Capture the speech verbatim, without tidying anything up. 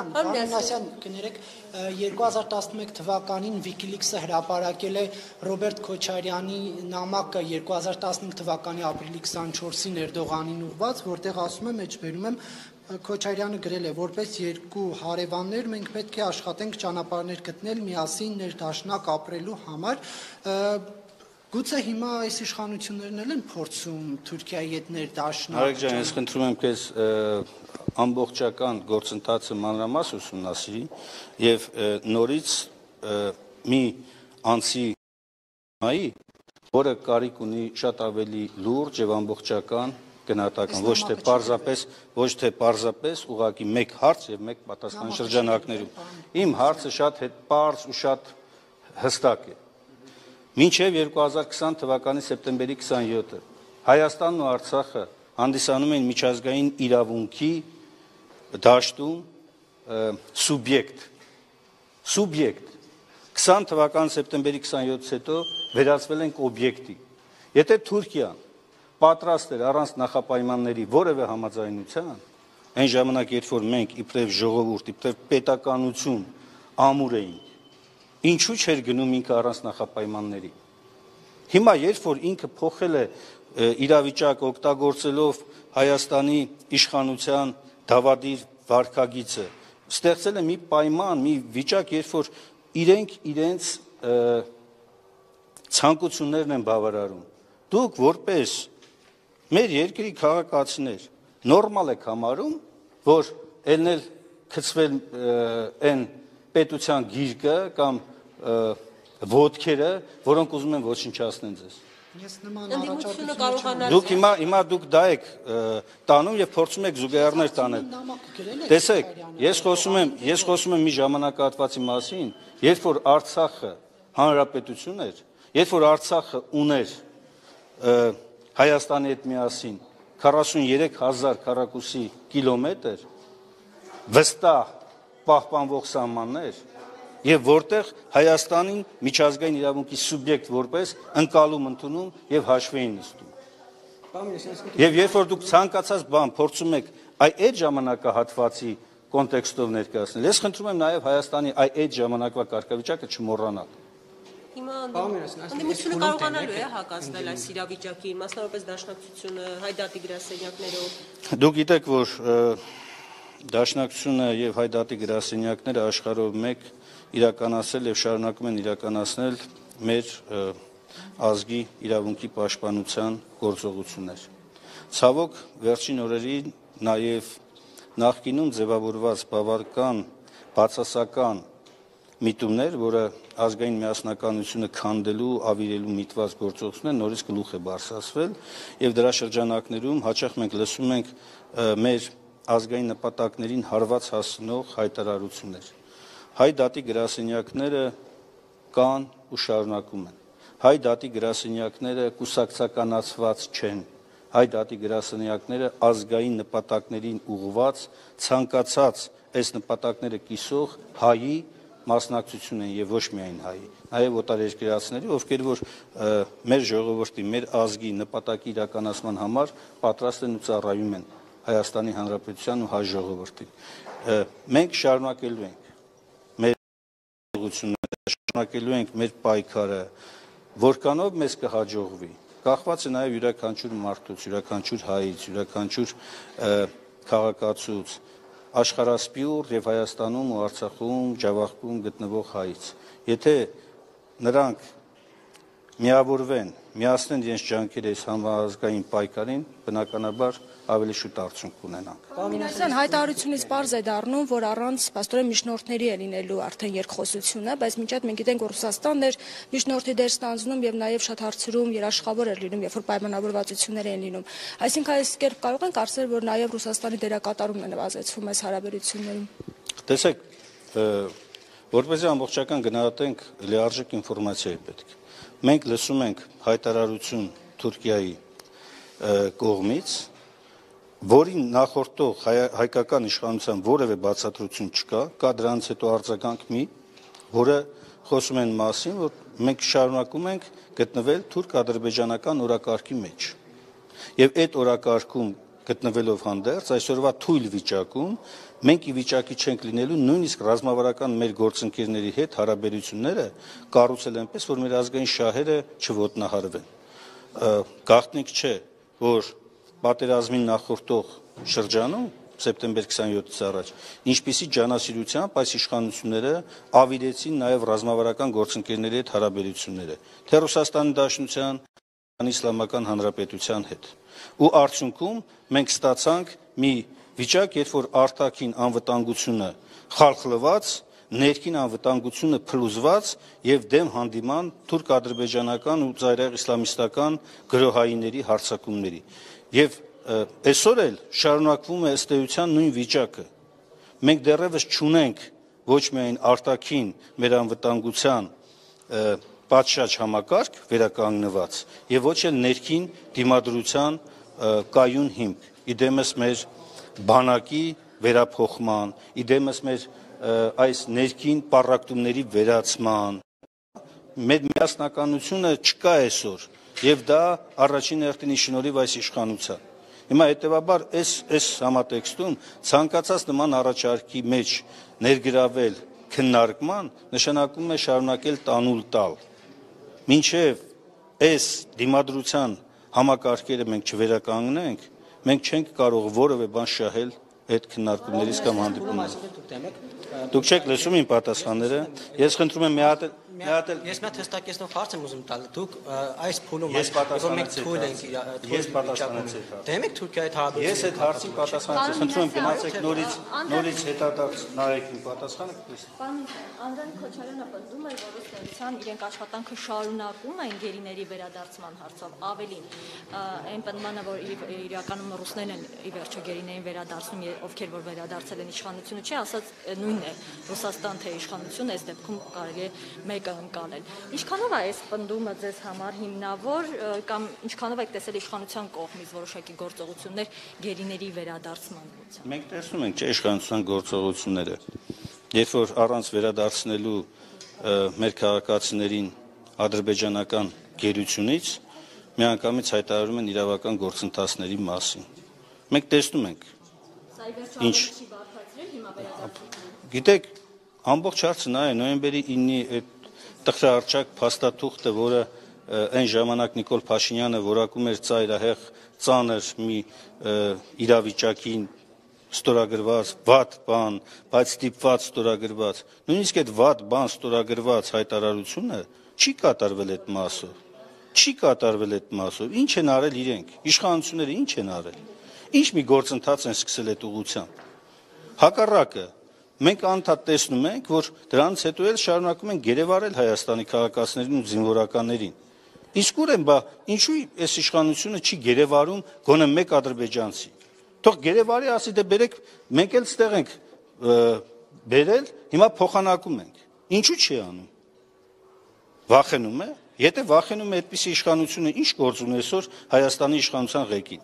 Անասյան կներեք երկու հազար տասնմեկ թվականին Wikileaks-ը հրապարակել է Ռոբերտ Քոչարյանի նամակը երկու հազար տասնհինգ թվականի ապրիլի քսանչորսին Էրդողանին ուղված, որտեղ ասում է, մեջբերում եմ, Քոչարյանը գրել է, որպես երկու հարևաններ մենք պետք է աշխատենք ճանապարհներ գտնել միասին ներդաշնակ ապրելու համար։ Գուցե հիմա այս իշխանություններն էլ են փորձում Թուրքիայի հետ ներդաշնակ։ Արեգ ջան, ես խնդրում եմ քեզ ամբողջական գործընթացը մանրամաս ուսումնասիրի եւ նորից մի անձի նայի, որը կարիք ունի շատ ավելի լուրջ եւ ամբողջական գնահատական, ոչ թե պարզապես, ոչ թե պարզապես ուղղակի մեկ հարց եւ մեկ պատասխան շրջանակներում։ Իմ հարցը շատ պարզ ու շատ հստակ է։ Մինչև երկու հազար քսան թվականի սեպտեմբերի քսանյոթը Հայաստանն ու Արցախը հանդիսանում են միջազգային իրավունքի դաշտում սուբյեկտ, սուբյեկտ, քսան թվականի սեպտեմբերի քսանյոթից հետո վերածվել ենք օբյեկտի։ Եթե Թուրքիան պատրաստ էր առանց նախապայմանների որևէ համաձայնության, այն ժամանակ, երբ որ մենք իբրև ժողովուրդ, իբրև պետականություն ամուր էինք, ինչու չէր գնում ինքը առանց նախապայմանների։ Հիմա, երբ որ ինքը փոխել է իրավիճակը օգտագործելով Հայաստանի իշխանության դավադիր վարքագիծը, ստեղծել է մի պայման, մի վիճակ, երբ որ իրենք իրենց ցանկություններն են բավարարում։ Դուք որպես մեր երկրի քաղաքացիներ նորմալ եք համարում, որ ելնել գցվել այն պետության գիրկը կամ ոտքերը, որոնք ուզում են ոչնչացնեն ձեզ։ Դուք հիմա հիմա դուք դա եք տանում եւ փորձում եք զուգահեռներ տանել։ Տեսեք, ես խոսում եմ, ես խոսում եմ մի ժամանակահատվածի մասին, երբ որ Արցախը հանրապետություն էր, երբ որ Արցախը ուներ Հայաստանի հետ միասին քառասուներեք հազար քառակուսի կիլոմետր վստահ պահպանվող սահմաններ, եւ որտեղ Հայաստանին միջազգային իրավունքի սուբյեկտ որպես ընկալում ընդունում եւ հաշվի էին նստում։ Եվ երբ որ դուք ցանկացած բան փորձում եք այդ ժամանակահատվածի կոնտեքստով ներկայացնել, ես խնդրում եմ նաեւ Հայաստանի այդ ժամանակվա կարգավիճակը չմոռանալ։ Հիմա անդիմությունը կարողանալու է հակազդել այս իրավիճակին, մասնավորապես Դաշնակցությունը, Հայդատի գրասենյակներով։ Դուք գիտեք, որ Դաշնակցությունը եւ Հայդատի գրասենյակները աշխարհով մեկ իրականացել եւ շարունակում են իրականացնել մեր ազգի իրավունքի պաշտպանության գործողություններ։ Ցավոք, վերջին օրերին նաեւ նախկինում ձևավորված բավական բացասական միտումներ, որը ազգային միասնականությունը քանդելու, ավիրելու միտված գործողություններ նորից գլուխ է բարձրացվել եւ դրա շրջանակներում հաճախ մենք լսում ենք մեր ազգային նպատակներին հարված հասնող հայտարարություններ։ Հայ դատի գրասենյակները կան ու շարունակում են։ Հայ դատի գրասենյակները կուսակցականացված չեն։ Հայ դատի գրասենյակները ազգային նպատակներին ուղղված ցանկացած այս նպատակները կիսող հայի մասնակցություն են եւ ոչ միայն հայի, նաեւ օտարերկրացիների, ովքեր որ մեր ժողովրդի, մեր ազգի նպատակի իրականացման համար պատրաստ են ու ծառայում են Հայաստանի Հանրապետության ու հայ ժողովրդին։ Մենք շարունակելու ենք մեր ուղղությունները, շարունակելու ենք մեր պայքարը, որքանով մեզ կհաջողվի, կախված է նաև յուրաքանչյուր մարդուց, յուրաքանչյուր հայից, յուրաքանչյուր քաղաքացուց, աշխարհասփյուռ եւ Հայաստանում ու Արցախում, Ջավախքում գտնվող հայից։ Եթե նրանք միավորվեն, միացնեն իրենց ջանքերը այս համազգային պայքարին, բնականաբար ավելի շուտ արդյունք կունենանք։ Պարոն հայտարարությունից պարզ է դառնում, որ առանց պաստորեն միջնորդների է լինելու արդեն երկխոսությունը, բայց մինչ այդ մենք գիտենք, որ Ռուսաստանն էր միջնորդի դեր ստանձնում եւ նաեւ շատ հարցերում երաշխավոր էր լինում, երբ որ պայմանավորվածություններ էին լինում։ Այսինքն այս կերպ կարող ենք ասել, որ նաեւ Ռուսաստանի դերակատարումն է նվազեցվում այս հարաբերություններում։ Տեսեք, որպեսզի ամբողջական գնահատենք, լիարժեք ինֆորմացիա է պետք։ Մենք լսում ենք հայտարարություն Թուրքիայի կողմից, որին նախորդող հայկական իշխանության որևէ բացատրություն չկա, կա դրանից հետո արձագանք մի, որը խոսում են մասին, որ մենք շարունակում ենք գտնվել թուրք-ադրբեջանական օրակարգի մեջ։ Եվ այդ օրակարգում գտնվելով հանդերձ այսօրվա թույլ վիճակում մենք ի վիճակի չենք լինելու նույնիսկ ռազմավարական մեր գործընկերների հետ հարաբերությունները կառուցել այնպես, որ մեր ազգային շահերը չոտնահարվեն։ Գաղտնիք չէ, որ պատերազմին նախորդող շրջանում սեպտեմբեր քսանյոթից առաջ ինչպիսի ջանասիրությամբ այս իշխանությունները ավիրեցին նաև ռազմավարական գործընկերների հետ հարաբերությունները թե Ռուսաստանի Դաշնության, Իսլամական Հանրապետության հետ։ Ու արդյունքում մենք ստացանք մի վիճակ, երբ որ արտաքին անվտանգությունը խալխլված, ներքին անվտանգությունը փլուզված եւ դեմ հանդիման թուրք-ադրբեջանական ու ծայրահեղ իսլամիստական գրոհայինների հարձակումների։ Եվ այսօր էլ շարունակվում է ըստ էության նույն վիճակը։ Մենք դեռևս չունենք ոչ միայն արտաքին մեր անվտանգության պատշաճ համակարգ վերականգնված եւ ոչ էլ ներքին դիմադրության կայուն հիմք։ Իդեմս մեր բանակի վերափոխման, իդեմս մեր այս ներքին պառակտումների վերացման մեր միասնականությունը չկա այսօր եւ դա առաջին հերթին շնորհիվ այս իշխանության։ Հիմա հետեւաբար այս այս համատեքստում ցանկացած նման առաջարկի մեջ ներգրավել քննարկման նշանակում է շարունակել տանուլ տալ։ Մինչև այս դիմադրության համակարգերը մենք չվերականգնենք, մենք չենք կարող որևէ բան շահել այդ քննարկումներից կամ հանդիպումներից։ Դուք չեք լսում իմ պատասխանները, ես խնդրում եմ մի հատ մի հատ ես մի հստակեցնող հարց եմ ուզում տալ։ Դուք այս փուլում որ մենք թույլ ենք ես պատասխանեցի։ Դե մենք Թուրքիայի հետ Ես այդ հարցին պատասխանեցի, խնդրում եմ գնացեք նորից նորից հետադարձ նայեք իմ պատասխանը։ Պարոն Անդրանիկ Քոչարյանը պնդում է, որ ուսուցիչան իրենք աշխատանքը շարունակում են գերիների վերադարձման հարցով, ավելին այն պնդմանը, որ իրականում ռուսներն են ի վերջո գերիներին վերադարձնում, ովքեր որ վերադարձել են իշխանությունը, չի ասած նույնն է Ռուսաստան թե իշխանություն, այս դեպքում կարելի է մեկը ընկալել։ Ինչքանով է այս պնդումը ձեզ համար հիմնավոր կամ ինչքանով եք տեսել իշխանության կողմից որոշակի գործողություններ գերիների վերադարձման ուղղությամբ։ Մենք տեսնում ենք, չէ, իշխանության գործողությունները, երբ որ առանց վերադարձնելու մեր քաղաքացիներին ադրբեջանական գերությունից միանգամից հայտարարում են իրավական գործընթացների մասին։ Մենք տեսնում ենք։ Ինչ Գիտեք, ամբողջ հարցը նա է նոյեմբերի իննի այդ տխրահարճակ փաստաթուղթը, որը այն ժամանակ Նիկոլ Փաշինյանը որակում էր ծայրահեղ ծանր մի իրավիճակին ստորագրված վատ բան, բայց ստիպված ստորագրված, նույնիսկ այդ վատ բան ստորագրված հայտարարությունը չի կատարվել այդ մասով, չի կատարվել այդ մասով, ինչ են արել իրենք, իշխանությունները ինչ են արել, ինչ մի գործընթաց են սկսել այդ ուղղությամբ, հակառակը, մենք անդադար տեսնում ենք, որ դրանից հետո էլ շարունակում են գերեվարել Հայաստանի քաղաքացիներին ու զինվորականներին, իսկ ուր են, բա ինչու այս իշխանությունը չի գերեվարում գոնե մեկ ադրբեջանցի, թող գերեվարի ասի, դե բերեք, մենք էլ ստեղ ենք բերել, հիմա փոխանակում ենք, ինչու չի անում, վախենում է, եթե վախենում է այդպիսի իշխանությունը, ինչ գործ ունի այսօր Հայաստանի իշխանության ղեկին,